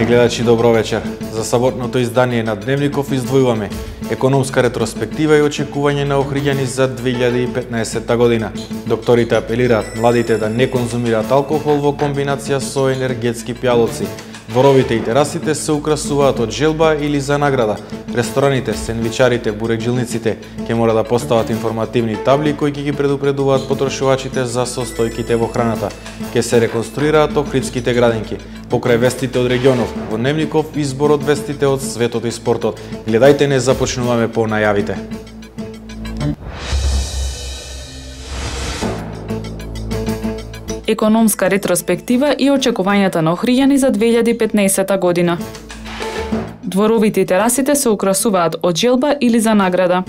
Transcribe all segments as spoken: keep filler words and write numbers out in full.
гледачи, добро вечер. За саботното издание на Дневников издвојуваме економска ретроспектива и очекување на охриѓани за две илјади и петнаесетта година. Докторите апелираат младите да не конзумираат алкохол во комбинација со енергетски пијалоци. Дворовите и терасите се украсуваат од желба или за награда. Рестораните, сендвичарите, бурекджилниците ќе мора да постават информативни табли кои ќе ги предупредуваат потрошувачите за состојките во храната. Ќе се реконструираат охридските градинки. Покрај вестите од регионов, во Дневников избор од вестите од светот и спортот. Гледајте, не започнуваме по најавите. Економска ретроспектива и очекувањата на охриѓани за две илјади и петнаесетта година. Дворовите и терасите се украсуваат од желба или за награда.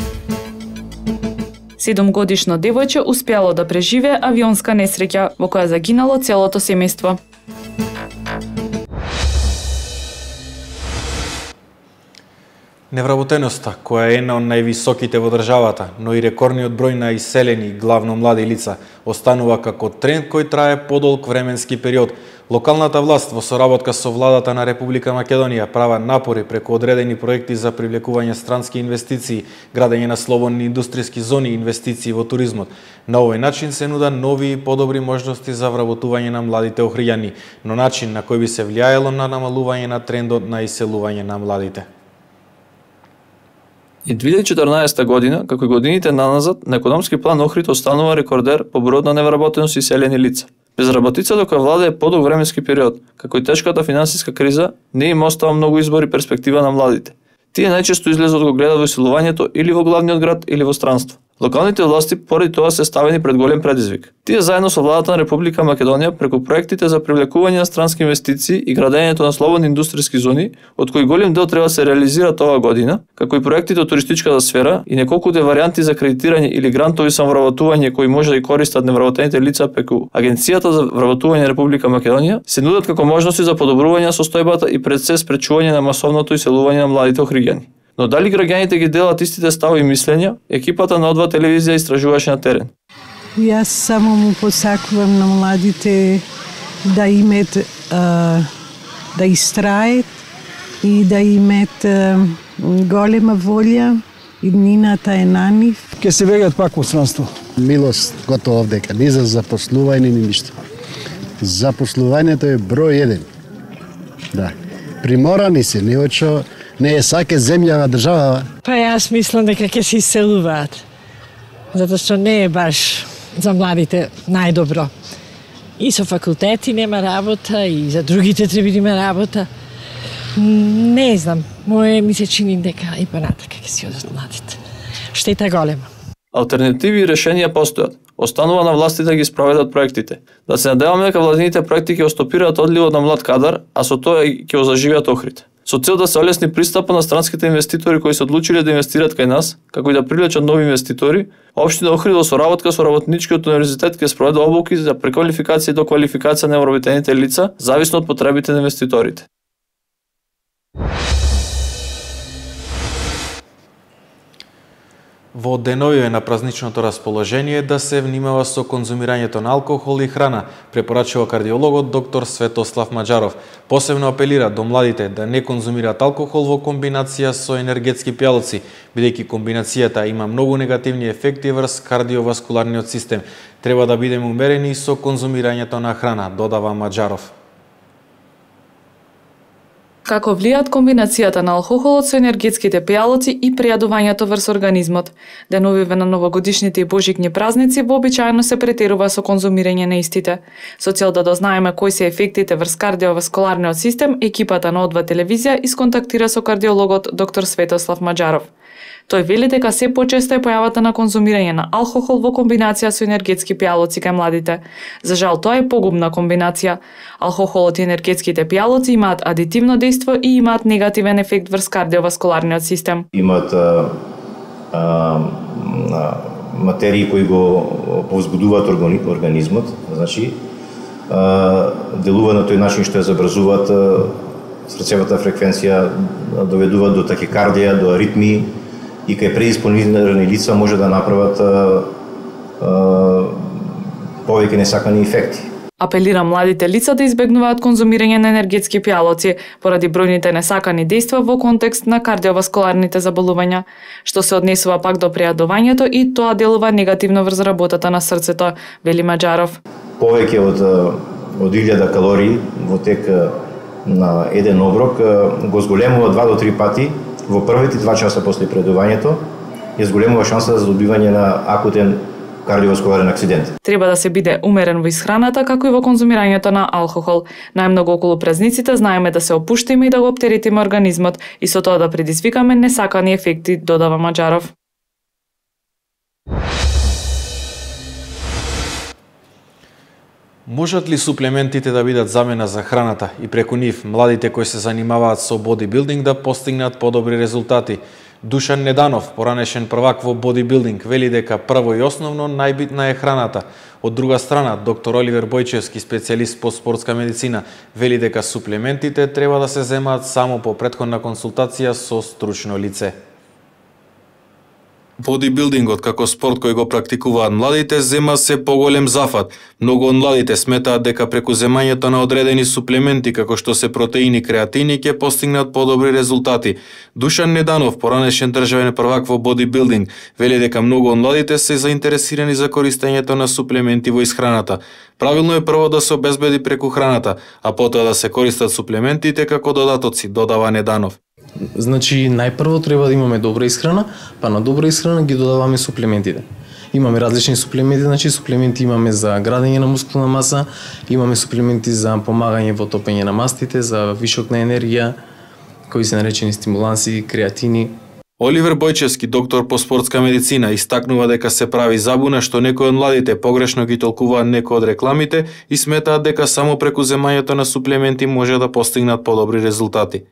Седумгодишно девојче успеало да преживее авионска несреќа во која загинало целото семејство. Невработеноста, која е една од највисоките во државата, но и рекордниот број на иселени, главно млади лица, останува како тренд кој трае подолг временски период. Локалната власт во соработка со владата на Република Македонија права напори преку одредени проекти за привлекување странски инвестиции, градење на слободни индустријски зони и инвестиции во туризмот. На овој начин се нуда нови и подобри можности за вработување на младите охриѓани, но начин на кој би се влијаело на намалување на трендот на иселување на младите. И две илјади и четрнаесетта година, како и годините наназад, на економски план Охрид останува рекордер по бројот на невработеност и иселени лица. Безработицата која владее подолг временски период, како и тешката финансиска криза, не им остава многу избор и перспектива на младите. Тие најчесто излезот го гледат во иселувањето или во главниот град или во странство. Локалните власти поради тоа се ставени пред голем предизвик. Тие заедно со владата на Република Македонија преку проектите за привлекување на странски инвестиции и градењето на слободни индустријски зони, од кои голем дел треба да се реализираат оваа година, како и проектите од туристичката сфера и неколкуте варијанти за кредитирање или грантови за вработување кои може да ги користат невработените лица преку Агенцијата за вработување на Република Македонија, се нудат како можности за подобрување на состојбата и пред се спречување на масовното иселување на младите охриѓани. Но дали граѓаните ги делат истите стави и мислења, екипата на Одва телевизија истражуваше на терен. Јас само му посакувам на младите да имат, да истрајат и да имат голема волја, иднината е на нив. Ке се вегаат пак во странство. Милост готово овдека, ни за запослување ни ништо. Запослувањето е број еден. Да. Приморани се, не очо не е саке земја држава. Па јас мислам дека ќе се иселуваат. Затоа што не е баш за младите најдобро. И со факултети нема работа, и за другите треба да има работа. Не знам, моje ми се чини дека и понатака ќе си одат младите. Штета голема. Алтернативи и решенија постојат. Останува на властите да ги спроведат проектите. Да се надеваме дека владините проекти ќе остопираат одливот на млад кадар, а со тоа ќе озаживеат Охрид. Со цел да се олесни пристапот на странските инвеститори кои се одлучиле да инвестираат кај нас, како и да привлечат нови инвеститори, општина Охрид во соработка со Работничкиот универзитет ќе спроведе обуки за преквалификација и доквалификација на невработените лица, зависно од потребите на инвеститорите. Во деновиве на празничното расположение да се внимава со конзумирањето на алкохол и храна, препорачува кардиологот доктор Светослав Маџаров. Посебно апелира до младите да не конзумираат алкохол во комбинација со енергетски пијалоци, бидејќи комбинацијата има многу негативни ефекти врз кардиоваскуларниот систем. Треба да бидеме умерени со конзумирањето на храна, додава Маџаров. Како влијат комбинацијата на алкохолот со енергетските пијалоци и пријадувањето врз организмот. Деновиве на новогодишните и божикни празници вообичаено се претерува со конзумирање на истите. Со цел да дознаеме кои се ефектите врз кардиоваскуларниот систем, екипата на Одва телевизија исконтактира со кардиологот доктор Светослав Маџаров. Тој вели дека се почесто е појавата на конзумирање на алкохол во комбинација со енергетски пијалоци кај младите. За жал, тоа е погубна комбинација. Алкохолот и енергетските пијалоци имаат адитивно дејство и имаат негативен ефект врз кардиоваскуларниот систем. Имаат а, а, материи кои го повзбудуваат организмот, значи а, делува на тој начин што ја забрзуваат срцевата фреквенција, доведуваат до тахикардија, до аритмии, и кај предисполнирани лица може да направат а, а, повеќе несакани ефекти. Апелира младите лица да избегнуваат конзумирање на енергетски пијалоци поради бројните несакани дејства во контекст на кардиоваскуларните заболувања, што се однесува пак до прејадувањето и тоа делува негативно врз работата на срцето, вели Маџаров. Повеќе од од илјада калории во тек на еден оброк го зголемува два до три пати во првите два часа после прејадувањето, ја зголемува шанса за добивање на акутен кардиоваскуларен акцидент. Треба да се биде умерен во исхраната, како и во конзумирањето на алкохол. Најмногу околу празниците знаеме да се опуштиме и да го оптеретиме организмот и со тоа да предизвикаме несакани ефекти, додава Маџаров. Можат ли суплементите да бидат замена за храната и преку нив младите кои се занимаваат со бодибилдинг да постигнат подобри резултати? Душан Неданов, поранешен првак во бодибилдинг, вели дека прво и основно најбитна е храната. Од друга страна, доктор Оливер Бојчевски, специјалист по спортска медицина, вели дека суплементите треба да се земаат само по претходна консултација со стручно лице. Бодибилдингот како спорт кој го практикуваат младите зема се поголем зафат. Многу од младите сметаат дека преку земањето на одредени суплементи како што се протеини, креатини ќе постигнат подобри резултати. Душан Неданов, поранешен државен првак во бодибилдинг, вели дека многу од младите се заинтересирани за користењето на суплементи во исхраната. Правилно е прво да се обезбеди преку храната, а потоа да се користат суплементите како додатоци, додава Неданов. Значи, најпрво треба да имаме добра исхрана, па на добра исхрана ги додаваме суплементите. Имаме различни суплементи, значи суплементи имаме за градење на мускулна маса, имаме суплементи за помагање во топење на мастите, за вишок на енергија, кои се наречени стимуланси, креатини. Оливер Бојчевски, доктор по спортска медицина, истакнува дека се прави забуна што некои од младите погрешно ги толкуваат некои од рекламите и сметаат дека само преку земањето на суплементи може да постигнат подобри резултати.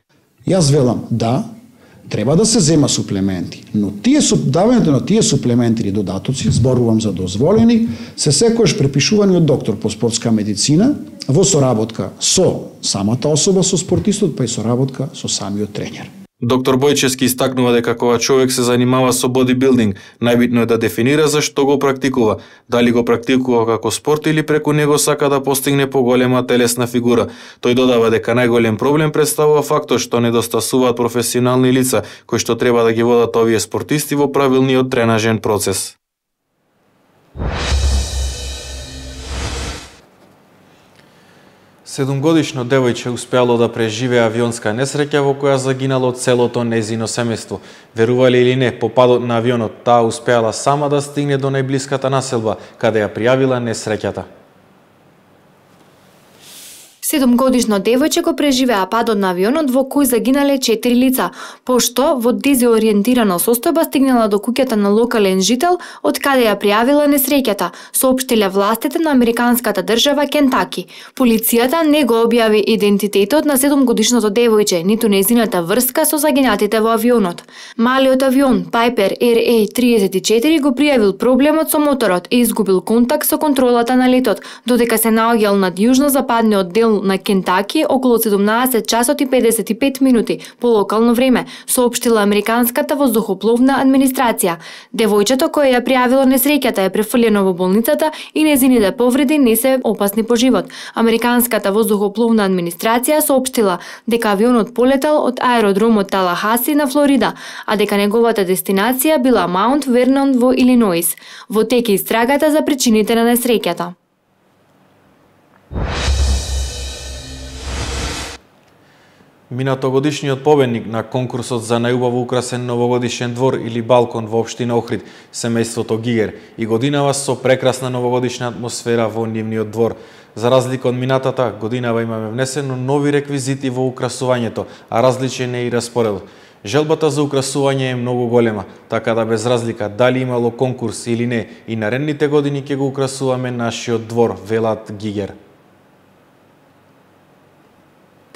Јас велам, да, треба да се зема суплементи, но тие давањето на тие суплементи или додатоци, зборувам за дозволени, се секојаш препишувани од доктор по спортска медицина во соработка со самата особа, со спортистот, па и соработка со самиот тренер. Доктор Бојчевски истакнува дека кога човек се занимава со бодибилдинг, најбитно е да дефинира за што го практикува, дали го практикува како спорт или преку него сака да постигне поголема телесна фигура. Тој додава дека најголем проблем представува фактот што недостасуваат професионални лица кои што треба да ги водат овие спортисти во правилниот тренажен процес. Седумгодишно девојче успеало да преживее авионска несреќа во која загинало целото нејзино семејство. Верували или не, по падот на авионот таа успеала сама да стигне до најблиската населба, каде ја пријавила несреќата. Седумгодишно девојче го преживеа падот на авионот во кој загинале четири лица, пошто во дезориентирана состојба стигнала до куќата на локален жител од каде ја пријавила несреќата, соопштиле властите на американската држава Кентаки. Полицијата не го објави идентитетот на седумгодишното девојче, ниту нејзината врска со загинатите во авионот. Малиот авион Piper Р А триесет и четири го пријавил проблемот со моторот и изгубил контакт со контролата на летот, додека се наоѓал над јужно-западниот дел на Кентаки околу седумнаесет часот и педесет и пет минути по локално време, соопштила американската воздухопловна администрација. Девојчето кое ја пријавило несреќата е префрлено во болницата и нејзините повреди не се опасни по живот. Американската воздухопловна администрација соопштила дека авионот полетал од аеродромот Талахаси на Флорида, а дека неговата дестинација била Маунт Вернон во Илиноис. Во тек е истрагата за причините на несреќата. Минатогодишниот победник на конкурсот за најубаво украсен новогодишен двор или балкон во општина Охрид, семејството Гигер, и годинава со прекрасна новогодишна атмосфера во нивниот двор. За разлика од минатата годинава имаме внесено нови реквизити во украсувањето, а различен е и распоред. Желбата за украсување е многу голема, така да без разлика дали имало конкурс или не, и наредните години ќе го украсуваме нашиот двор, велат Гигер.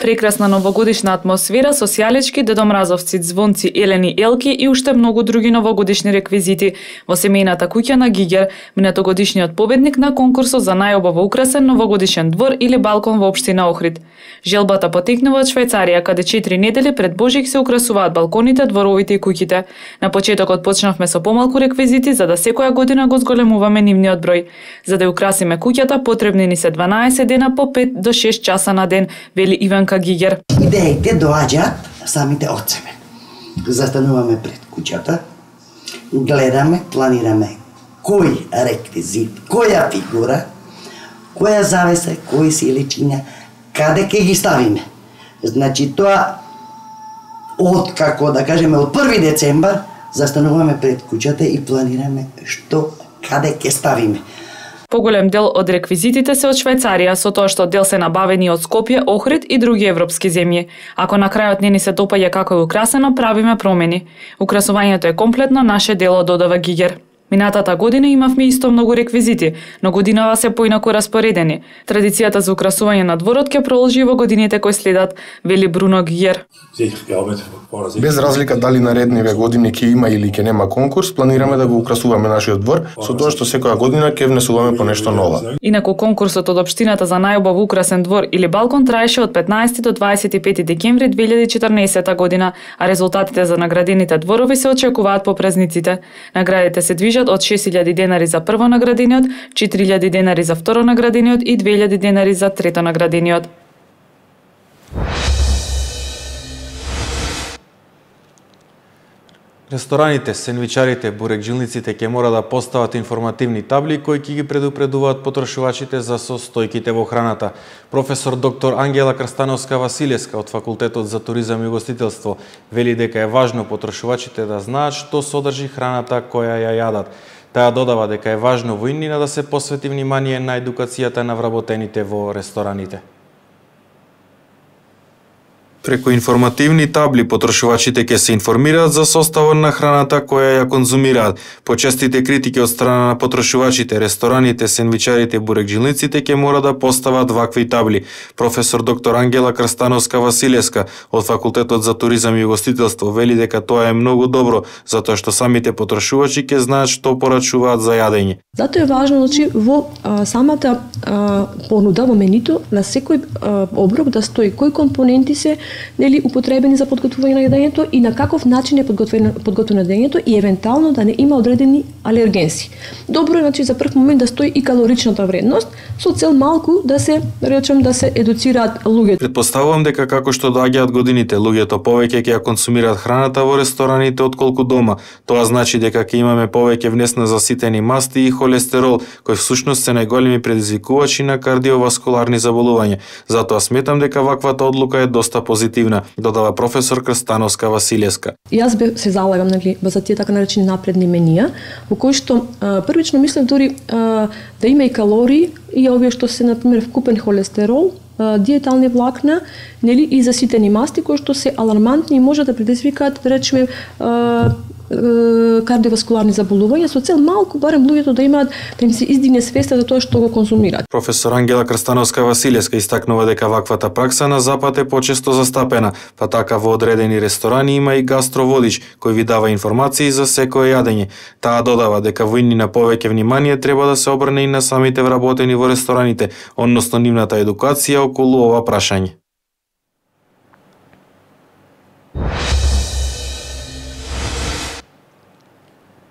Прекрасна новогодишна атмосфера со сјалечки, дедомразовци, звонци, елени, елки и уште многу други новогодишни реквизити во семејната куќа на Гигер, минатогодишниот победник на конкурсот за најубаво украсен новогодишен двор или балкон во општина Охрид. Желбата потекнува од Швајцарија, каде четири недели пред Божик се украсуваат балконите, дворовите и куќите. На почетокот почнавме со помалку реквизити за да секоја година го зголемуваме нивниот број. За да украсиме куќата потребни ни се дванаесет дена по пет до шест часа на ден, вели Иванка Гигер. Идеите доаѓаат самите од себе. Застануваме пред куќата, гледаме, планираме кој реквизит, која фигура, која завеса, кои силичиња, каде ќе ги ставиме. Значи тоа од како да кажеме од први децембар застануваме пред куќата и планираме што каде ќе ставиме. Поголем дел од реквизитите се од Швајцарија, со тоа што дел се набавени од Скопје, Охрид и други европски земји. Ако на крајот не ни се допаѓа како е украсено, правиме промени. Украсувањето е комплетно наше дело, додава Гигер. Минатата година имавме исто многу реквизити, но годинава се поинаку распоредени. Традицијата за украсување на дворот ќе продолжи во годините кои следат, вели Бруно Гиер. Без разлика дали наредниве години ќе има или ќе нема конкурс, планираме да го украсуваме нашиот двор, со тоа што секоја година ќе внесуваме по нешто ново. Инаку конкурсот од општината за најубав украсен двор или балкон траеше од петнаесети до дваесет и пети декември две илјади и четрнаесета година, а резултатите за наградените дворови се очекуваат по празниците. Наградите се движат од шест илјади денари за прво наградениот, четири илјади денари за второ наградениот и две илјади денари за трето наградениот. Рестораните, сендвичарите, бурекджилниците ќе мора да постават информативни табли кои ќе ги предупредуваат потрошувачите за состојките во храната. Професор доктор Ангела Крстановска-Василевска од Факултетот за туризам и угостителство вели дека е важно потрошувачите да знаат што содржи храната која ја јадат. Таа додава дека е важно во иднина да се посвети внимание на едукацијата на вработените во рестораните. Преку информативни табли потрошувачите ќе се информираат за составот на храната која ја конзумираат. По честите критики од страна на потрошувачите, рестораните, сендвичарите и бурекджилниците ќе мора да постават вакви табли. Професор доктор Ангела Крстановска-Василевска од Факултетот за туризам и угостителство вели дека тоа е многу добро, затоа што самите потрошувачи ќе знаат што порачуваат за јадење. Затоа е важно значи во а, самата а, понуда во менито на секој а, оброк да стои кои компоненти се нели употребени за подготвување на јадењето и на каков начин е подготвено подготвено јадењето и евентуално да не има одредени алергенси. Добро е значи за прв момент да стои и калоричната вредност со цел малку да се речем да се едуцираат луѓето. Предпоставувам дека како што доаѓаат годините, луѓето повеќе ќе ја консумираат храната во рестораните отколку дома. Тоа значи дека ќе имаме повеќе внесно заситени масти и холестерол, кои всушност се најголеми предизвикувачи на кардиоваскуларни заболувања. Затоа сметам дека ваквата одлука е доста позитивна, додава професор Крстановска-Василевска. Јас бе се залагам нели за тие така наречени напредни менија, во кои што а, првично мислам дури а, да има и калории и овие што се на пример вкупен холестерол, а, диетални влакна, нели и заситени масти кои што се алармантни и може да предизвикаат да речеме а, кардиоваскуларни заболувања со цел малку барем луѓето да имаат да им се издигне свеста за тоа што го конзумираат. Професор Ангела Крстановска-Василевска истакнува дека ваквата пракса на запад е почесто застапена, па така во одредени ресторани има и гастроводич кој ви дава информации за секое јадење. Таа додава дека во иднина повеќе внимание треба да се обрне и на самите вработени во рестораните, односно нивната едукација околу ова прашање.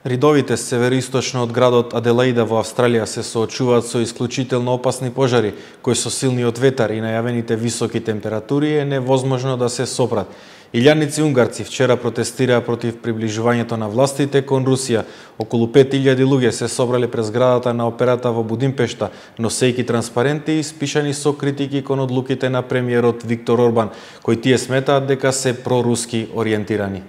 Ридовите североисточно од градот Аделаида во Австралија се соочуваат со исклучително опасни пожари, кои со силниот ветар и најавените високи температури е невозможно да се сопрат. Илјадници унгарци вчера протестираа против приближувањето на властите кон Русија. Околу пет илјади луѓе се собрале пред зградата на операта во Будимпешта, носејќи транспаренти испишани со критики кон одлуките на премиерот Виктор Орбан, кои тие сметаат дека се проруски ориентирани.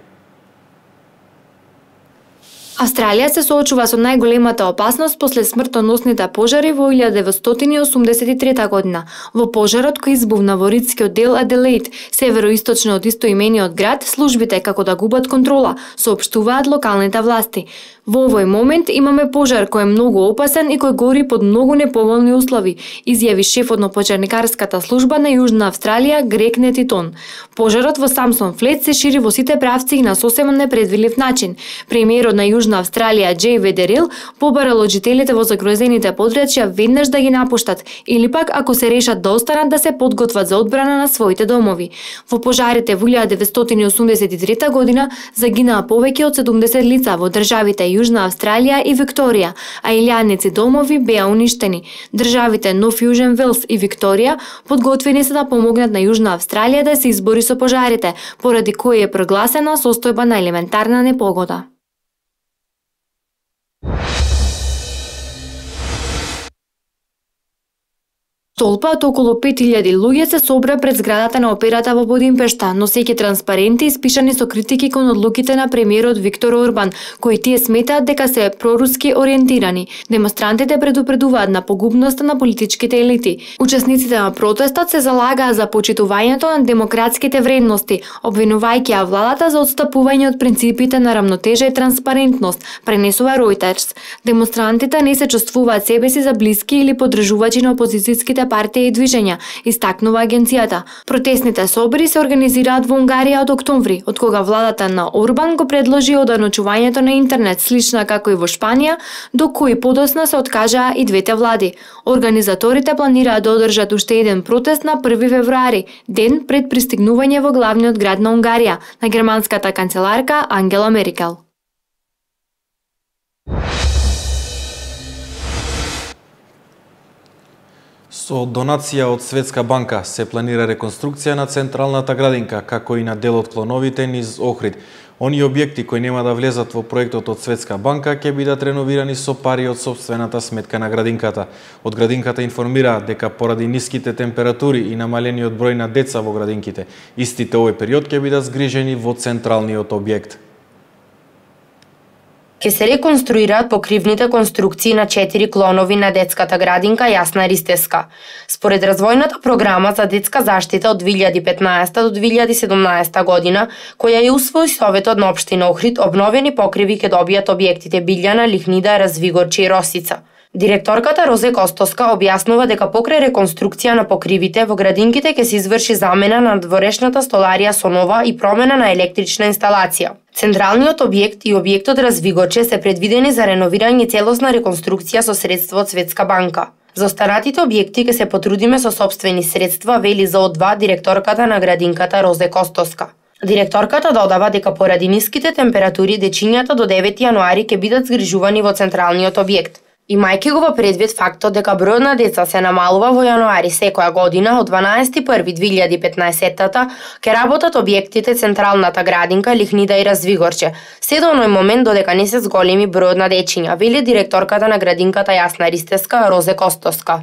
Австралија се соочува со најголемата опасност после смртоносните пожари во илјада деветстотини осумдесет и трета година. Во пожарот кој избувна во ридскиот дел Аделаид, североисточно од истоимениот град, службите како да губат контрола, соопштуваат локалните власти. Во овој момент имаме пожар кој е многу опасен и кој гори под многу неповолни услови, изјави шефот на пожарникарската служба на Јужна Австралија Грег Нетитон. Пожарот во Самсон Флет се шири во сите правци и на сосема непредвидлив начин. Премиерот на Јужна Австралија Џеј Ведерил побарал од жителите во загрозените подрачја веднаш да ги напуштат или пак ако се решат да останат да се подготват за одбрана на своите домови. Во пожарите во илјада деветстотини и осумдесет и трета година загинаа повеќе од седумдесет лица во државите Јужна Австралија и Викторија, а илјадници домови беа уништени. Државите Нов Јужен Велс и Викторија подготвени се да помогнат на Јужна Австралија да се избори со пожарите, поради кој е прогласена состојба на елементарна непогода. Толпа од околу пет илјади луѓе се собра пред зградата на операта во Будимпешта, носејќи транспаренти испишани со критики кон одлуките на премиерот Виктор Орбан, кои тие сметаат дека се проруски ориентирани. Демонстрантите предупредуваат на погубноста на политичките елити. Учесниците на протестот се залагаа за почитувањето на демократските вредности, обвинувајќи ја владата за отстапување од принципите на рамнотежа и транспарентност, пренесува Reuters. Демонстрантите не се чувствуваат себеси за блиски или поддржувачи на опозицијските партија и движења, истакнува агенцијата. Протестните собори се организираат во Унгарија од октомври, од кога владата на Орбан го предложи оданочувањето на интернет, слична како и во Шпанија, до кои подоцна се откажаа и двете влади. Организаторите планираат да одржат уште еден протест на први февруари, ден пред пристигнување во главниот град на Унгарија, на германската канцеларка Ангела Меркел. Со донација од Светска банка се планира реконструкција на централната градинка, како и на дел од клоновите низ Охрид. Оние објекти кои нема да влезат во проектот од Светска банка ќе бидат реновирани со пари од сопствената сметка на градинката. Од градинката информираа дека поради ниските температури и намалениот број на деца во градинките, истите овој период ќе бидат згрижени во централниот објект. Ке се реконструираат покривните конструкции на четири клонови на детската градинка Јасна Ристеска. Според развојната програма за детска заштита од две илјади и петнаесета до две илјади и седумнаесета година, која ја усвои Советот на општина Охрид, обновени покриви ќе добијат објектите Билјана, Лихнида, Развигорче и Росица. Директорката Розе Костоска објаснува дека покрај реконструкција на покривите во градинките ќе се изврши замена на дворешната столарија со нова и промена на електрична инсталација. Централниот објект и објектот Развигорче се предвидени за реновирање и целосна реконструкција со средства од Светска банка. За останатите објекти ќе се потрудиме со сопствени средства, вели за О два директорката на градинката Розе Костоска. Директорката додава дека поради ниските температури дечињата до девети јануари ќе бидат згрижувани во централниот објект. Имајќи го во предвид фактот дека бројот на деца се намалува во јануари секоја година, од дванаесети први две илјади и петнаесета ќе работат објектите Централната градинка, Лихнида и Развигорче, се до оној момент додека не се зголеми бројот на дечиња, вели директорката на градинката Јасна Ристеска Розе Костоска.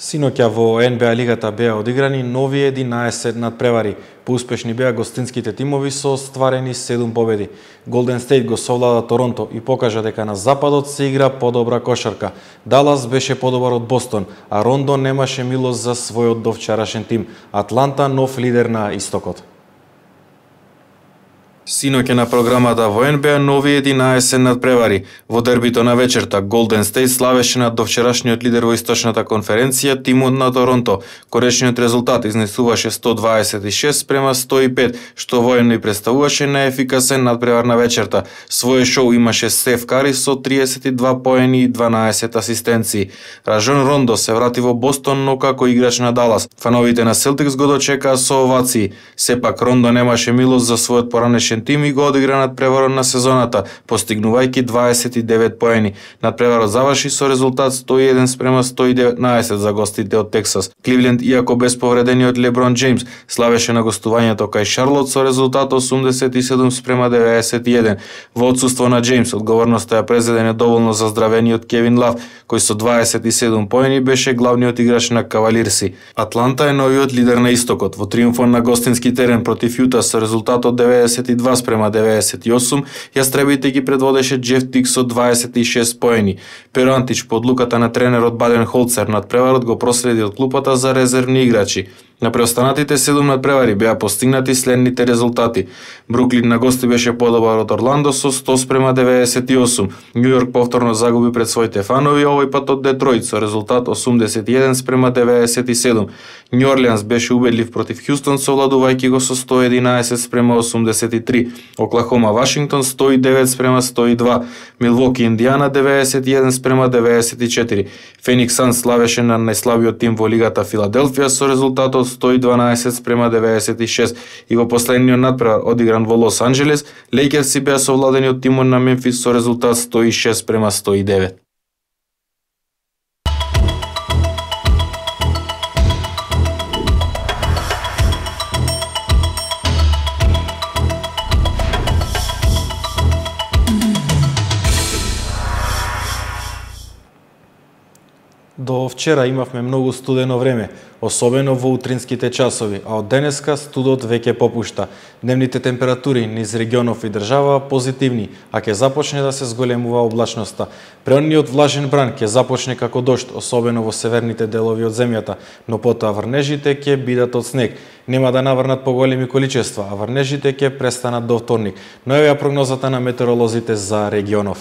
Синоќа во Ен Би А лигата беа одиграни нови единаесет надпревари. Поуспешни беа гостинските тимови со остварени седум победи. Голден Стейт го совлада Торонто и покажа дека на западот се игра подобра кошарка. Далас беше подобар од Бостон, а Рондо немаше милост за својот довчарашен тим. Атланта нов лидер на истокот. Синоќа на програмата во Ен Би А нови единаесет надпревари. Во дербито на вечерта Голден Стейт славеше над довчерашниот лидер во источната конференција тимот на Торонто. Коречниот резултат изнесуваше сто дваесет и шест спрема сто и пет, што воено и представуваше најефикасен надпревар на вечерта. Своје шоу имаше Стеф Кари со триесет и два поени и дванаесет асистенции. Ражон Рондо се врати во Бостон, но како играч на Далас. Фановите на Селтикс го дочекаа со овации. Сепак Рондо немаше милост за својот поранешен тим и го одигра надпреварот на сезоната, постигнувајќи дваесет и девет поени. Надпреварот заврши со резултат сто и еден спрема сто и деветнаесет за гостите од Тексас. Кливленд, иако без повредениот Леброн Џејмс, славеше на гостувањето кај Шарлот со резултат осумдесет и седум спрема деветдесет и еден. Во отсуство на Џејмс, одговорноста ја презеде недоволно заздравениот Кевин Лав, кој со дваесет и седум поени беше главниот играч на Кавалирси. Атланта е новиот лидер на истокот. Во триумфон на гостински терен против Јута со резултат од деветдесет и два два спрема деветдесет и осум, Јастребите ги предводеше Джеф Тик со дваесет и шест поени. Перо Антич под луката на тренерот Баден Холцер надпреварот го проследи од клупата за резервни играчи. На преостанатите седум надпревари беа постигнати следните резултати. Бруклин на гости беше подобар од Орландо со сто спрема деветдесет и осум. Њу Јорк повторно загуби пред своите фанови, овој пат од Детроит со резултат осумдесет и еден спрема деветдесет и седум. Њу Орлеанс беше убедлив против Хјустон, совладувајќи го со сто единаесет спрема осумдесет и три. Оклахома Вашингтон сто и девет спрема сто и два. Милвоки Индијана деветдесет и еден спрема деветдесет и четири. Феникс Санс славеше на најслабиот тим во лигата Филаделфија со резултатот сто и дванаесет спрема деветдесет и шест. И во последниот надпревар одигран во Лос Анџелес, Лејкерси беа совладени од тимот на Мемфис со резултат сто и шест спрема сто и девет. До вчера имавме многу студено време, особено во утринските часови, а од денеска студот веќе попушта. Дневните температури низ регионов и држава позитивни, а ќе започне да се зголемува облачноста. Преонниот влажен бран ќе започне како дожд, особено во северните делови од земјата, но потоа врнежите ќе бидат од снег. Нема да наврнат поголеми количества, а врнежите ќе престанат до вторник. Но еве ја прогнозата на метеоролозите за регионов.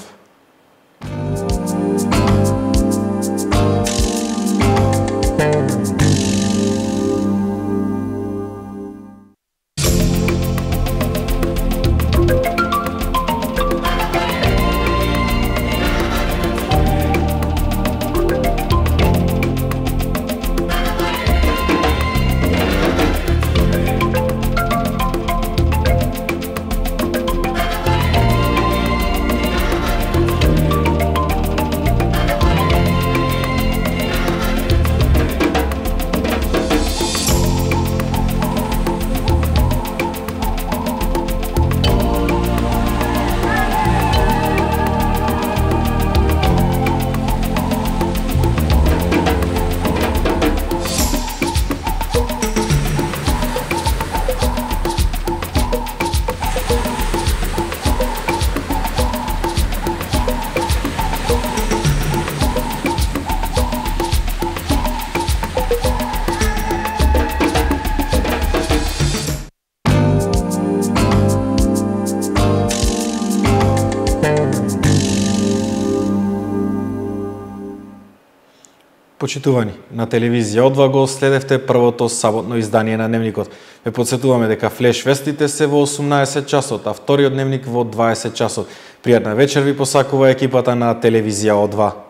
Почитувани, на телевизија О два го следевте првото саботно издание на Дневникот. Ве подсетуваме дека флеш вестите се во осумнаесет часот, а вториот дневник во дваесет часот. Пријатна вечер ви посакува екипата на телевизија О два.